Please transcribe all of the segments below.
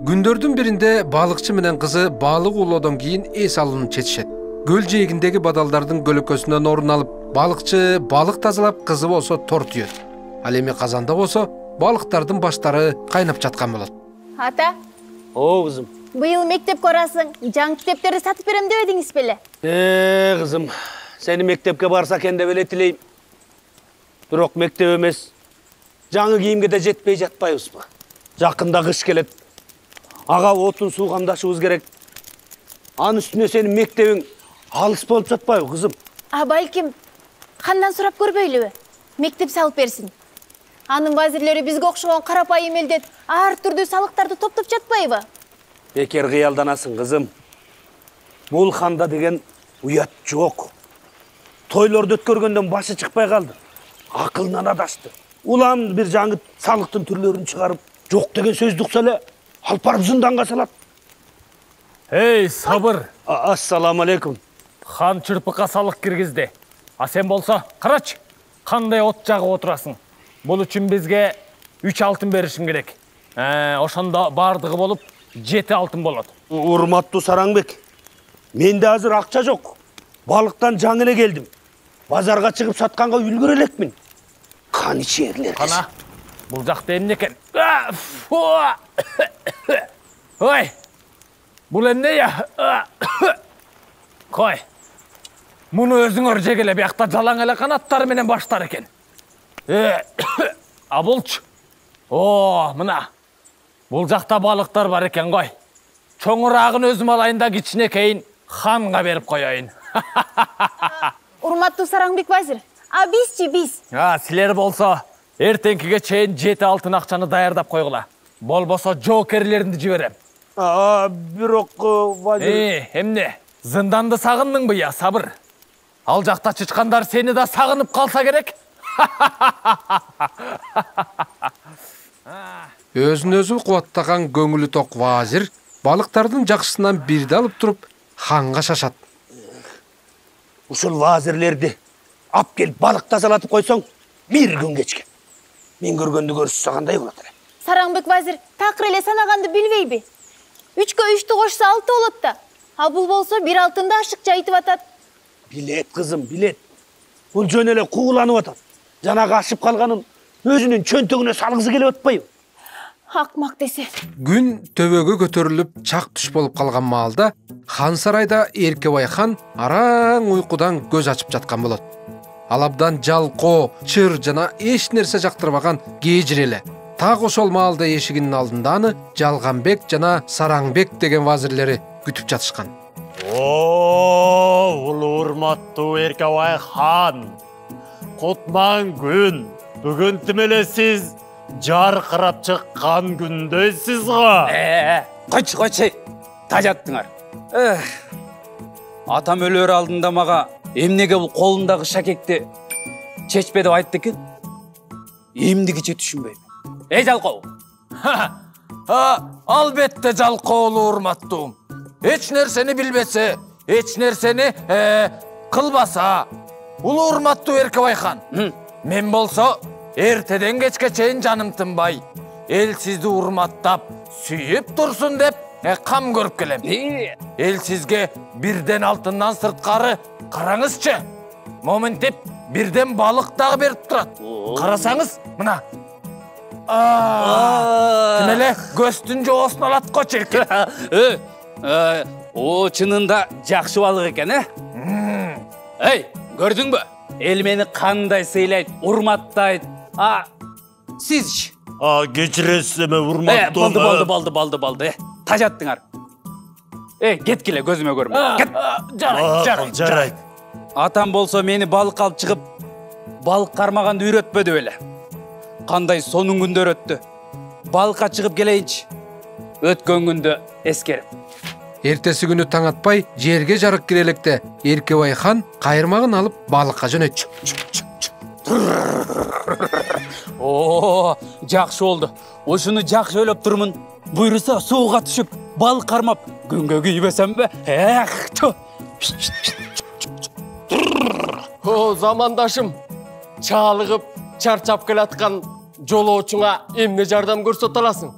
Күндөрдүн биринде балыкчы менен кызы балык улоодон кийин эс алууну чечишет. Көл жээгиндеги бадалдардын көлөкөсүнөн орун алып, балыкчы балык тазалап, кызы болсо тор түйөт. Ал эми казанда болсо балыктардын баштары кайнап жаткан болот. Ата. О, кызым. Быйыл мектепке барасың. Жаңы китептерди сатып берем дебедиңиз беле? Кызым, сени мектепке барса экен деп эле тилейм. Бирок мектеп эмес. Жаңы кийимге да жетпей жатпайбызбы? Жакында кыш келет. Ага отун суу камдашыбыз керек. Анын үстүнө сенин мектебиң алыс болуп жатпайбы, кызым? Балким, кандан сурап көрбөйлүбү? Мектеп салып берсин. Анын вазирлери бизге окшогон карапайым элден ар түрдүү салыктарды топтоп жатпайбы? Бекер кыялданасың, кызым. Бул ханда деген уят жок. Тойлорду өткөргөндөн башы чыкпай калды. Акылынан адашты. Улам бир жаңы салыктын түрлөрүн чыгарып, жок деген сөздү укса эле алып барып зынданга салат. Эй, сабыр. Ассаламу алейкум. Хан чырпыкка салык киргизди. А сен болсо, карачы, кандай от жагып отурасың. Бул үчүн бизге 3 алтын беришиң керек. Ошондо бардыгы болуп 7 алтын болот. Урматтуу Сараңбек, менде азыр акча жок. Балыктан жаңы эле келдим. Базарга чыгып сатканга үлгүрө элекмин. Кан ичерлер. Кана, бул жакта эмне экен? Ой, бул эмне я? Кой, муну өзүңөр жегеле, биякта жалаң эле канаттары менен баштар экен. А булчу? Мына. Бул жакта балыктар бар экен кой. Чоңураагын өзүм алайын да кичинекейин ханга берип коеюн. Урматтуу Сараңбек вазир, биз. Силер болсо, эртеңкиге чейин 7 алтын акчаны даярдап койгула. Болбосо жоокерлеринди жиберем. Бирок вазир... Эмне? Зынданды сагындыңбы я, сабыр? Ал жакта чычкандар сени да сагынып калса керек. Өзүн өзү кубаттаган көңүлү ток вазир балыктардын жакшысынан бирди алып туруп ханга шашат. Ушул вазирлерди ап келип балык тазалатып койсоң, бир күн кечке. Мен көргөндү көрсө кандай болот эле? Сараңбек вазир такыр эле санаганды билбейби? 3-кө 3-тү кошсо 6 болот да. А бул болсо 1 алтынды ашыкча айтып атат. Билет, кызым, билет. Бул жөн эле кууланып атат. Жанагы ашып калганын өзүнүн чөнтөгүнө салгысы келип атпайбы? Акмак десе. Күн төбөгө көтөрүлүп чак түш болуп калган маалда хан сарайда Эркебай хан араң уйкудан көз ачып жаткан болот. Ал абдан жалкоо, чыр жана эч нерсе жактырбаган кежир эле. Так ошол маалда эшигинин алдында аны Жалганбек жана Сараңбек деген вазирлери күтүп жатышкан. Улуу урматтуу Эркебай хан. Кутман күн. Бүгүн тим эле сиз жаркырап чыккан күндөйсүз го. Койчу, тажаттыңар. Атам өлөр алдында мага эмнеге бул колундагы шакекти чечпе деп айтты экен? Эмдигиче түшүнбөйм. Жалкоо. Албетте жалкоолуу урматтуум. Эч нерсени билбесе, эч нерсени кылбаса, улуу урматтуу Эркебай хан. Мен болсо эртеден кечке чейин жаным тынбай, эл сизди урматтап, сүйүп турсун деп кам көрүп келем. Эл сизге бирден алтындан сырткары караңызчы. Моментип бирден балык дагы берип турат. Карасаңыз, мына. Тим эле көстүн жоосун алат го чиркин. О, чынында жакшы балык экен, Эй, көрдүңбү? Эл мени кандай сыйлайт, урматтайт. Сизчи? Кечиресиз эме урматтуу. Болду. Тажаттыңар. Кеткиле, көзүмө көрмө. Кет. Жарайт. Атам болсо мени балык алып чыгып, балык кармаганды үйрөтпөдү беле. Кандай сонун күндөр өттү. Балыкка чыгып келейинчи. Өткөн күндө эскерип. Эртеси күнү таң атпай жерге жарык кире электе Эркебай хан кайырмагын алып балыкка жөнөтчү. Жакшы болду. Ушуну жакшы ойлоп турмун. Буйруса сууга түшүп, балык кармап, күнгө күйбөсөмбү? Замандашым, чалыгып, чарчап келаткан жолоочуңа эмне жардам көрсөтө аласың?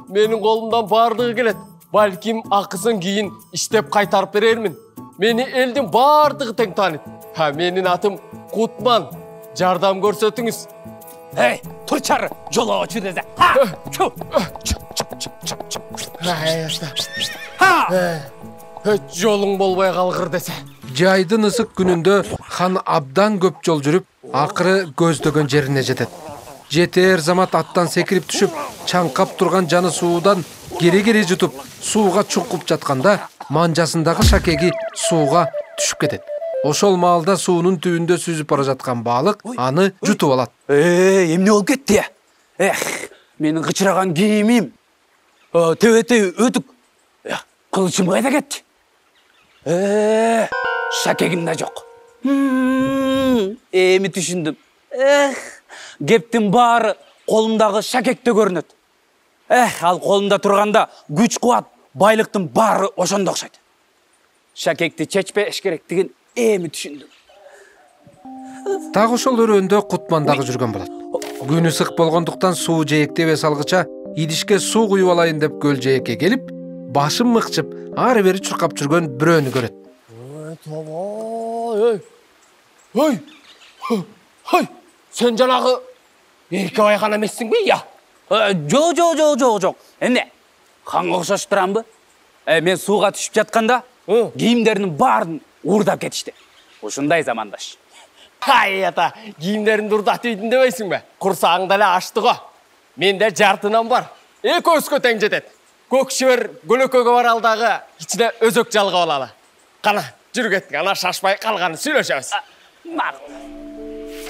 Менин колумдан баардыгы келет. Балким акысын кийин иштеп кайтарып берермин. Мени элдин баардыгы тең тааныйт. Менин атым Кутман. Жардам көрсөтүңүз. Эй, тур чары, жолоочу дезе. Жолуң болбой калгыр десе. Жайдын ысык күнүндө хан абдан көп жол жүрүп, акыры көздөгөн жерине жетет. Жетер замат аттан секирип түшүп, чаңкап турган жаны суудан кере жутуп, сууга чуңкуп жатканда, манжасындагы шакеги сууга түшүп кетет. Ошол маалда суунун түбүндө сүзүп бара жаткан балык аны жутуп алат. Эмне болуп кетти? Менин кычыраган кийимим. Төбөтөй өтүк. Кылычым кайда кетти? Шакегим да жок. Эми түшүндүм. Кептин баары колумдагы шакекте көрүнөт. Ал колумда турганда күч кубат, байлыктын баары ошондо окшойт. Шакекти чечпеш керектигин эми түшүндүм. Так ошол өрөөндө Кутман дагы жүргөн болот. Күн ысык болгондуктан суу жээктебес алгыча идишке суу куюп алайын деп көл жээкке келип, башын мыкчып, ары бери чуркап жүргөн бирөөнү көрөт. Сен жанагы Эркебайхан эмессиңби? Жок. Эмне? Ханга окшош турамбы? Мен сууга түшүп жатканда, кийимдердин баарын уурдап кетишти. Ушундай замандаш. Ата, кийимдерин урдатып ийдин дебейсиңби? Курсагың деле ачты го. Менде жартынан бар. Экөөбүзгө тең жетет. Көк шибер көлөкөгө баралдагы ичине өзөк жалгап алалы. Кана, жүрүп кеттик, ана шашпай калганын сүйлөшөбүз.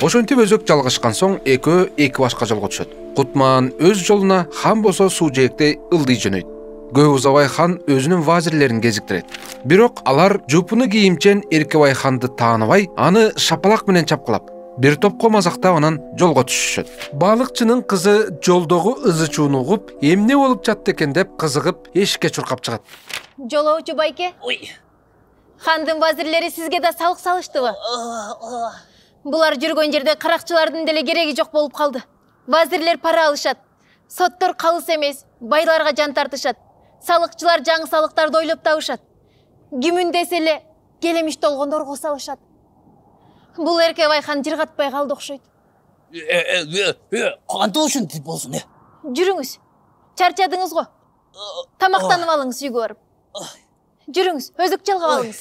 Ошентип өзөк жалгашкан соң экөө эки башка жолго түшөт. Кутман өз жолуна, хан болсо суу жээкте ылдый жөнөйт. Көп узабай хан өзүнүн вазирлерин кезиктирет. Бирок алар жупуну кийимчен Эркебайханды тааныбай, аны шапалак менен чапкылап, бир топко мазактап анан жолго түшүшөт. Балыкчынын кызы жолдогу ызы-чууну угуп, эмне болуп жатты экен деп кызыгып, эшикке чуркап чыгат. Жолоочу байке. Хандын вазирлери сизге да салык салыштыбы? Булар жүргөн жерде каракчылардын деле кереги жок болуп калды. Вазирлер пара алышат. Соттор калыс эмес, байларга жан тартышат. Салыкчылар жаңы салыктарды ойлоп табышат. Кимин десе эле келемиш толгондорго салышат. Бул Эркебайхан жыргатпай калды окшойт. Кантип ушинтип болсун? Жүрүңүз. Чарчадыңыз го. Тамактанып алыңыз үйгө барып. Жүрүңүз, өзөк жалгап алыңыз.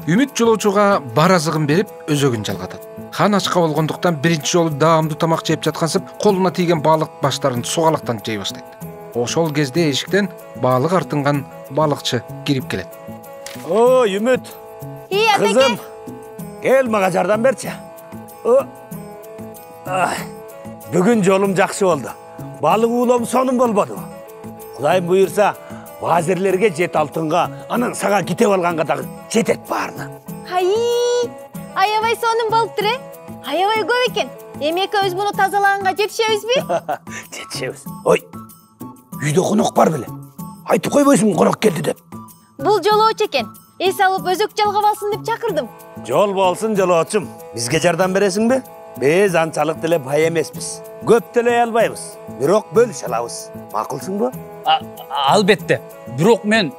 Үмүт жолоочуга бар азыгын берип, өзөгүн жалгатат. Хан ачка болгондуктан биринчи жолу даамдуу тамак жеп жаткансып, колуна тийген балык баштарын сугалактан жей баштайт. Ошол кезде эшиктен балык артынган балыкчы кирип келет. Үмүт. Кызым, кел мага жардам берчи. Бүгүн жолум жакшы болду. Балык уулоом сонун болбоду. Кудайым буйрса, вазирлерге жет алтынга, анан сага китеп алганга дагы жетет баарына. Аябай сонун болуптур, Аябай көп экен. Эми экөөбүз муну тазалаганга жетишебизби? Жетишебиз. Ой, үйдө конок бар беле? Айтып койбойсуңбу конок келди деп? Бул жолоочу экен. Эс алып өзөк жалгап алсын деп чакырдым. Жол болсун жолоочум. Бизге жардам бересиңби? Биз анчалык деле бай эмеспиз. Көп төлөй албайбыз. Бирок бөлүшө алабыз. Макулсуңбу? Албетте. Бирок мен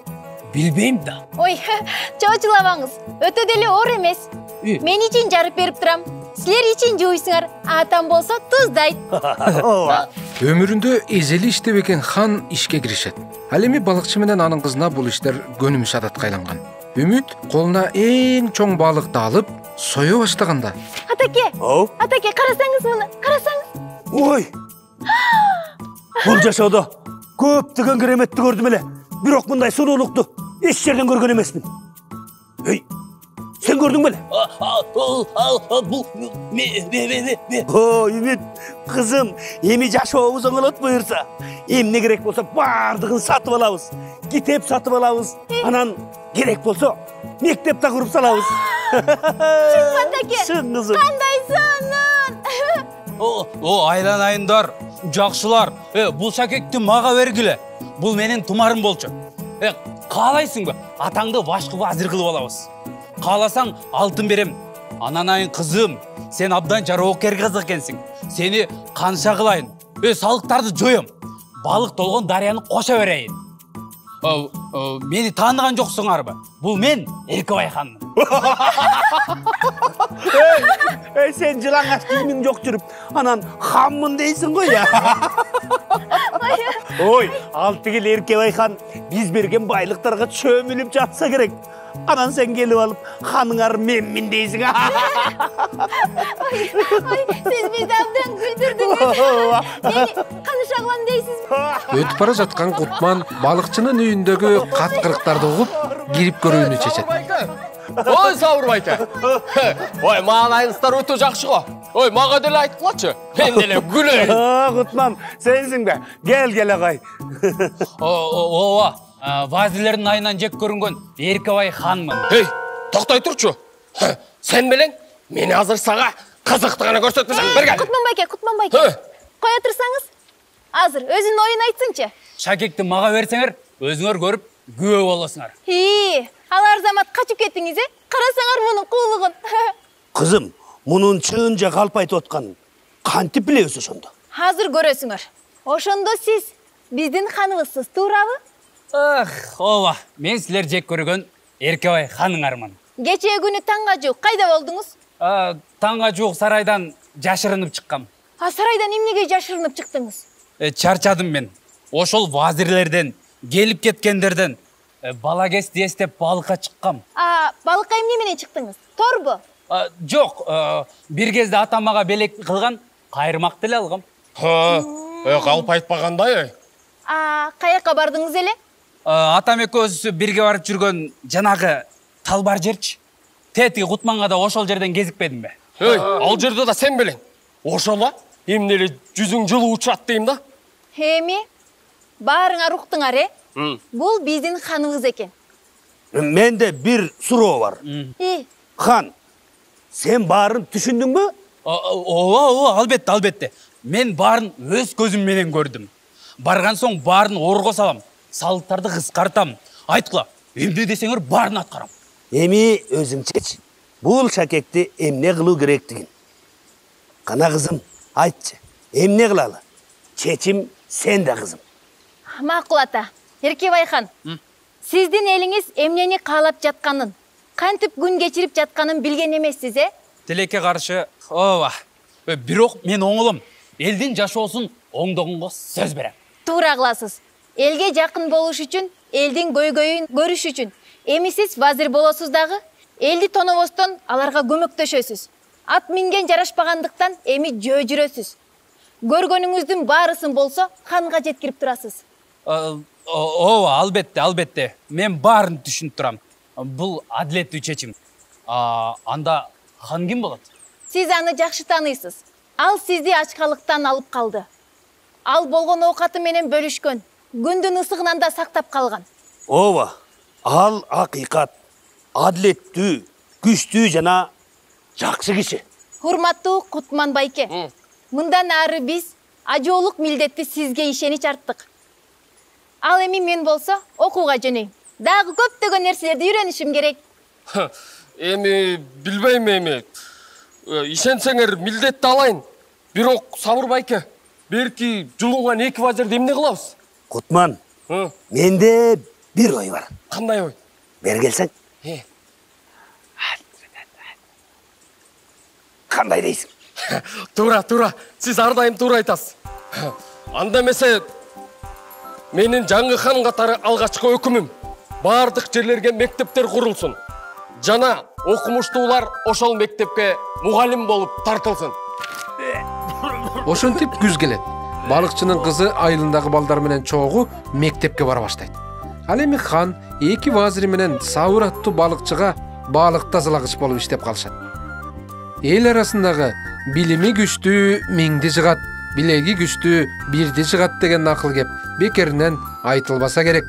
билбейм да. Ой, чоочулабаңыз. Өтө деле оор эмес. Мен ичин жарып берип турам. Силер ичин жууйсуңар. Атам болсо туздайт. Өмүрүндө эзели иштеп экен хан ишке киришет. Ал эми балыкчы менен анын кызына бул иштер көнүмүш адатка айланган. Үмүт колуна эң чоң балыкты алып, сое баштаганда. Атаке, карасаңыз муну, карасаңыз. Ой! Бул жашоодо көптөгөн кереметти көрдүм эле. Бирок мындай сонолукту эч жерден көргөн эмесмин. Эй, сен көрдүң беле? Үмүт, кызым, эми жашообуз оңолот буйрса. Эмне керек болсо баардыгын сатып алабыз. Китеп сатып алабыз. Анан керек болсо мектеп да куруп салабыз. Чынбы атаке? Чын кызым. Кандай сонун. Айланайындар, жакшылар. Бул шакекти мага бергиле. Бул менин тумарым болчу. Каалайсыңбы? Атаңды башкы вазир кылып алабыз. Кааласаң алтын берем. Ананайын кызым, сен абдан жароокер кыз экенсиң. Сени канча кылайын? Салыктарды жоем. балык толгон дарыяны кошо берейин. Мени тааныган жоксуңарбы? Бул мен Эркебай ханмын. Сен жылаңаш кийимиң жок жүрүп, анан ханмын дейсиң го я. Ой, ал тигил Эркебай хан биз берген байлыктарга чөмүлүп жатса керек. Анан сен келип алып, ханыңар менмин дейсиң. Сиз бизди абдан күлдүрдүңүз. Мени каныша кылам дейсизби? Өтүп бара жаткан Кутман балыкчынын үйүндөгү каткырыктарды угуп кирип көрүүнү чечет. Ой, Сабыр байке. Ой, маанайыңыздар өтө жакшы го. Ой, мага деле айткылачы. Мен деле күлөйүн. Кутман, сенсиң бе? Кел агай. Ооба, вазирлердин айынан жек көрүнгөн Эркебай ханмын. Эй, токтой турчу. Сен менен мени азыр сага кызыкты гана көрсөтмөсөң, бергел. Кутман байке. Кое турсаңыз? Азыр өзүнүн оюн айтсынчы. Шакекти мага берсеңер, өзүңөр көрүп күбө болосуңар. Ал Арзамат качып кеттиңиз, карасаңар мунун куулугун. Кызым, мунун чынжа калп айтып атканын кантип билебиз ошондо? Азыр көрөсүңөр. Ошондо сиз биздин ханыбызсыз, туурабы? Ооба, мен силер жек көргөн Эркебай ханыңармын. Кечээ күнү таңга жуук кайда болдуңуз? Таңга жуук сарайдан жашырынып чыккам. Сарайдан эмнеге жашырынып чыктыңыз? Чарчадым мен. Ошол вазирлерден, келип кеткендерден балагести эстеп балыкка чыккам. Балыкка эмне менен чыктыңыз? Торбу? Жок, бир кезде атам мага белек кылган кайрымак деле алгам. Калп айтпагандай. Каяка бардыңыз эле? Атам экөөбүз бирге барып жүргөн жанагы талбар жерчи. Тетиги Кутманга да ошол жерден кезикпедимби? Ал жерде да сен белең. Ошола эмне эле жүзүң жылуу учат дейм да. Эми баарыңар уктуңар, Бул биздин ханыбыз экен. Менде бир суроо бар. Хан, сен баарын түшүндүңбү? Ооба, албетте. Мен баарын өз көзүм менен көрдүм. Барган соң баарын орго салам, салыктарды кыскартам. Айткыла, эмне десеңер баарын аткарам. Эми өзүң чеч. Бул шакекти эмне кылуу керектигин. Кана кызым, айтчы. Эмне кылалы? Чечим сенде кызым. Макул ата. Эркебай хан, сиздин элиңиз эмнени каалап жатканын, кантип күн кечирип жатканын билген эмессиз, Тилекке каршы, ооба. Бирок мен оңолом. Элдин жашоосун оңдогонго сөз берем. Туура кыласыз. Элге жакын болуш үчүн, элдин көйгөйүн көрүш үчүн, эми сиз вазир болосуз дагы, элди тонобостон аларга көмөктөшөсүз. Ат минген жарашпагандыктан эми жөө жүрөсүз. Көргөнүңүздүн баарысын болсо, ханга жеткирип турасыз. Ооба, албетте. Мен баарын түшүнүп турам. Бул адилеттүү чечим. Анда хан ким болот? Сиз аны жакшы тааныйсыз. Ал сизди ачкалыктан алып калды. Ал болгон оокаты менен бөлүшкөн. Күндүн ысыгынан да сактап калган. Ооба. Ал акыйкат, адилеттүү, күчтүү жана жакшы киши. Урматтуу Кутман байке. Мындан ары биз ажоолук милдетти сизге ишенич арттык. Ал эми мен болсо окууга жөнөйм. Дагы көптөгөн нерселерди үйрөнүшүм керек. Эми билбейм эми. Ишенсеңер милдетти алайын. Бирок Сабыр байке, берки жулунган эки вазирди эмне кылабыз? Кутман, менде бир ой бар. Кандай ой? Бери келсең. Кандай дейсиң? Туура. Сиз ар дайым туура айтасыз. Анда эмесе менин жаңы хан катары алгачкы өкүмүм. Бардык жерлерге мектептер курулсун. Жана окумуштуулар ошол мектепке мугалим болуп тартылсын. Ошентип күз келет. Балыкчынын кызы айылындагы балдар менен чогуу мектепке бара баштайт. Ал эми хан эки вазири менен Сабыр аттуу балыкчыга балык тазалагыч болуп иштеп калышат. Эл арасындагы билими күчтүү миңди жыгат, билеги күчтүү бирди жыгат деген акыл кеп бекеринен айтылбаса керек.